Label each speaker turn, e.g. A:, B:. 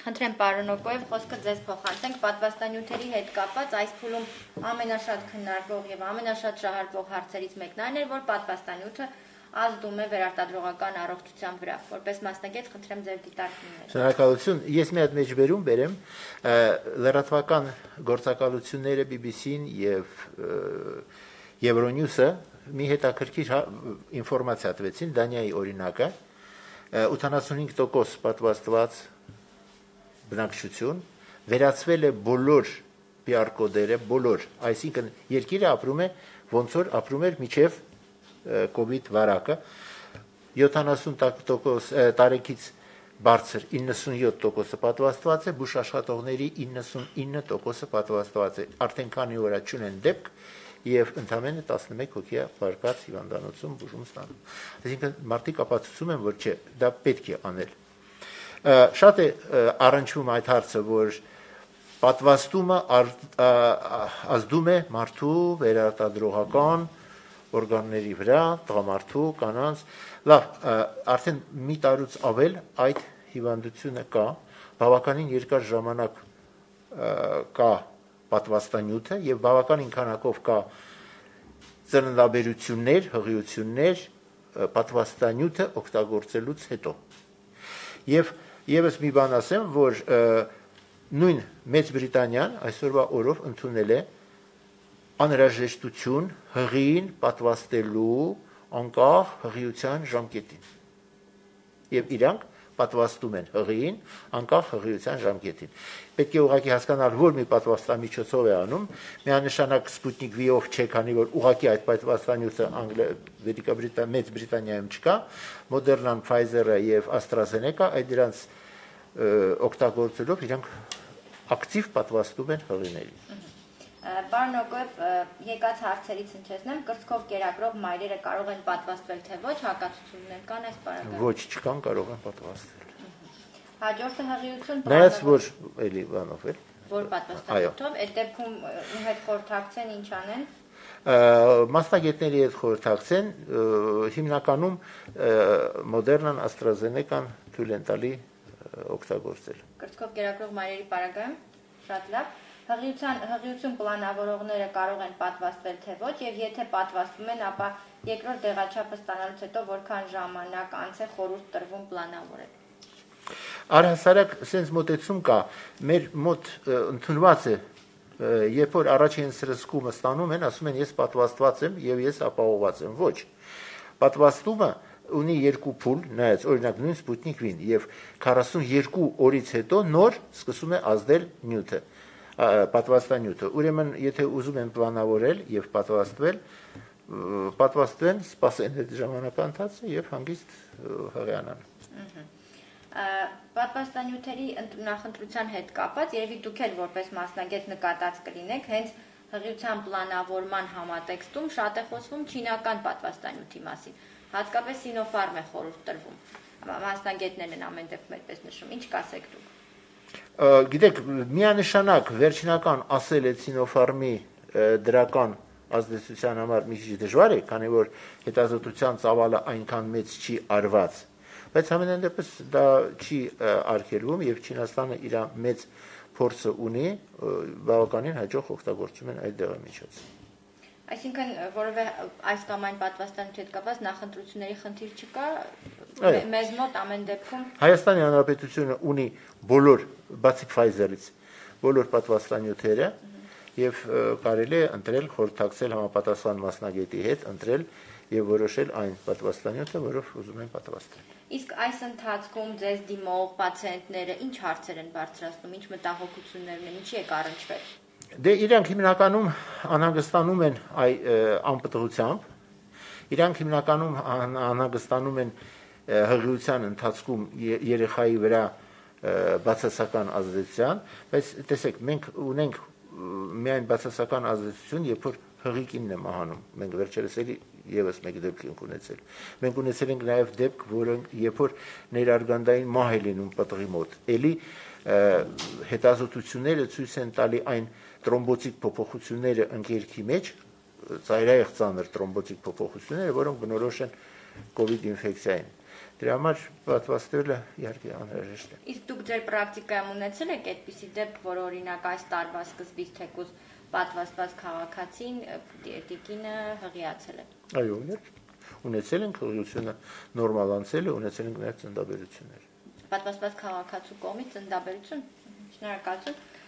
A: Խնդրեմ պարոն Օկոև, խոսքը ձեզ փոխանցենք պատվաստանյութերի հետ կապված այս փուլում ամենաշատ քննարկվող եւ ամենաշատ շահարկվող հարցերից մեկն այն էր, որ պատվաստանյութը ազդում է վերարտադրողական առողջության վրա։ Որպես մասնագետ խնդրեմ ձեր դիտարկումները։
B: Շնորհակալություն։ Ես մի հատ մեջբերում բերեմ լրատվական գործակալությունները BBC-ն եւ Euronews-ը մի հետաքրքիր ինֆորմացիա տվեցին Դանիայի օրինակը 85% պատվաստված բնակչություն վերածվել է բոլոր PR կոդերը, բոլոր, այսինքն երկիրը ապրում է ոնց որ ապրում էր մինչև COVID վարակը 70% տարեկից բարձր 97% պատվաստված է, բուժ աշխատողների 99% պատվաստված է, արդեն քանի օր չունեն դեպք եւ ընդամենը 11 հոգի է վարկած հիվանդանոցում բուժում ստանում։ Այսինքն մարդիկ ապացուցում են, որ չէ, դա պետք է անել։ Շատ է առնչվում այդ հարցը, որ պատվաստումը ազդում է մարդու վերարտադրողական օրգանների վրա, տղամարդու, կանանց, լավ, արդեն մի տարուց ավել այդ հիվանդությունը կա, բավականին երկար ժամանակ կա պատվաստանյութը եւ բավականին քանակով կա ծննդաբերություններ, հղիություններ պատվաստանյութը օգտագործելուց հետո։ Եվ եւս մի բան ասեմ, որ նույն Մեծ Բրիտանիան այսօրվա օրով ընդունել է անհրաժեշտություն հղին պատվաստելու անկախ հղիության ժամկետին։ Եվ իրանք պատվաստում են հղին անկախ հղիության ժամկետին։ Պետք է ուղղակի հասկանալ, որ մի պատվաստամիջոցով է անում, միանշանակ Sputnik V-ով չէ, քանի որ ուղղակի այդ պատվաստանյութը Մեծ Բրիտանիայում չկա, Moderna-ն, Pfizer-ը եւ AstraZeneca այդ դրանց օգտագործելով իրանք ակտիվ պատվաստում են հղիներին։
A: Պարոն Օկոև, եկած հարցերից հնչեցնեմ, կրծքով կերակրող մայրերը կարող են պատվաստվել, թե ոչ, հակացություններ կան այս պարագայում։
B: Ոչ, չկան, կարող են պատվաստվել։
A: Հաջորդը հղիություն։
B: Նայած որ էլի բանով էլ։
A: Որ պատվաստանյութով, այդ դեպքում ում հետ խորհրդակցեն, ինչ անեն։
B: Մասնագետների հետ խորհրդակցեն, հիմնականում Moderna-ն, AstraZeneca-ն թույլ են տալի օգտագործել։
A: Կրծքով կերակրող մայրերի պարագայում, շատ լավ։ Հղիություն պլանավորողները կարող են պատվաստվել, թե ոչ, եւ եթե պատվաստվում են, ապա երկրորդ դեղաչափը ստանալուց հետո որքան ժամանակ անց է խորհուրդ տրվում պլանավորել։
B: Առհասարակ sense մոտեցում կա, մեր մոտ ընդունված է, երբ որ առաջին սրսկումը ստանում են, ասում են ես պատվաստված եմ եւ ես ապահովված եմ, ոչ։ Պատվաստումը ունի երկու փուլ, նայած օրինակ նույն Sputnik V-ն եւ 42 օրից հետո նոր սկսում է ազդել նյութը, պատվաստանյութը։ Ուրեմն, եթե ուզում են պլանավորել եւ պատվաստվեն, սպասեն այդ ժամանակահատվածը եւ հանգիստ հղիանան։
A: Պատվաստանյութերի նախընտրության հետ կապված, երևի դուք էլ որպես մասնագետ նկատած կլինեք, հենց հղիության պլանավորման համատեքստում շատ է խոսվում չինական պատվաստանյութի մասին, հատկապես Sinopharm է խորհուրդ տրվում։ Մասնագետներն են ամեն դեպքում այդպես նշում, ինչ կասեք դուք։
B: Գիտեք, միանշանակ վերջնական ասել է Sinopharm-ի դրական ազդեցության համար մի քիչ դժվար է, քանի որ հետազոտության ծավալը այնքան մեծ չի արված, բայց ամենայն դեպս դա չի արգելվում եւ Չինաստանը իր մեծ փորձը ունի, բավականին հաջող օգտագործում են այդ դեղամիջոցը։
A: Այսինքն, որովհետեւ այս կամ այն պատվաստանյութի հետ կապված նախընտրությունների խնդիր չկա, մեզ մոտ ամեն դեպքում
B: Հայաստանի Հանրապետությունը ունի բոլոր, բացի Pfizer-ից, բոլոր պատվաստանյութերը եւ կարելի է ընտրել, խորհրդակցել համապատասխան մասնագետի հետ, ընտրել եւ որոշել այն պատվաստանյութը, որով ուզում են պատվաստել։
A: Իսկ այս ընթացքում ձեզ դիմող պացիենտները ինչ հարցեր են բարձրացնում, ինչ մտահոգություններ ունեն, ինչի եք առնչվել։
B: Դե իրանք հիմնականում անհանգստանում են անպտղությամբ, իրանք հիմնականում անհանգստանում են հղիության ընթացքում երեխայի վրա բացասական ազդեցության, բայց տեսեք, մենք ունենք միայն բացասական ազդեցություն, երբ որ հղիկինն է մահանում, մենք վերջերս էլի եւս մեկ դեպք ենք ունեցել։ Մենք ունեցել ենք նաեւ դեպք, որը երբ որ ներարգանդային մահ է լինում պտղի մոտ, էլի հետազոտությունները ցույց են տալի այն տրոմբոցիկ փոփոխությունները ընկերքի մեջ, ծայրահեղ ծանր տրոմբոցիկ փոփոխությունները, որոնք բնորոշ են COVID ինֆեկցիային։ Դրա համար պատվաստելը իհարկե անհրաժեշտ է։
A: Իսկ դուք ձեր պրակտիկայում ունեցել եք այդպիսի դեպք, որ օրինակ այս տարվա սկզբից թեկուզ պատվաստված քաղաքացին տիկինը հղիացել է։
B: Այո, ունեցել ենք հղիությունը նորմալ անցել է, ունեցել ենք նաև ծննդաբերություններ։
A: Պատվաստված քաղաքացու կողմից ծննդաբերություն։ Շնորհակալություն։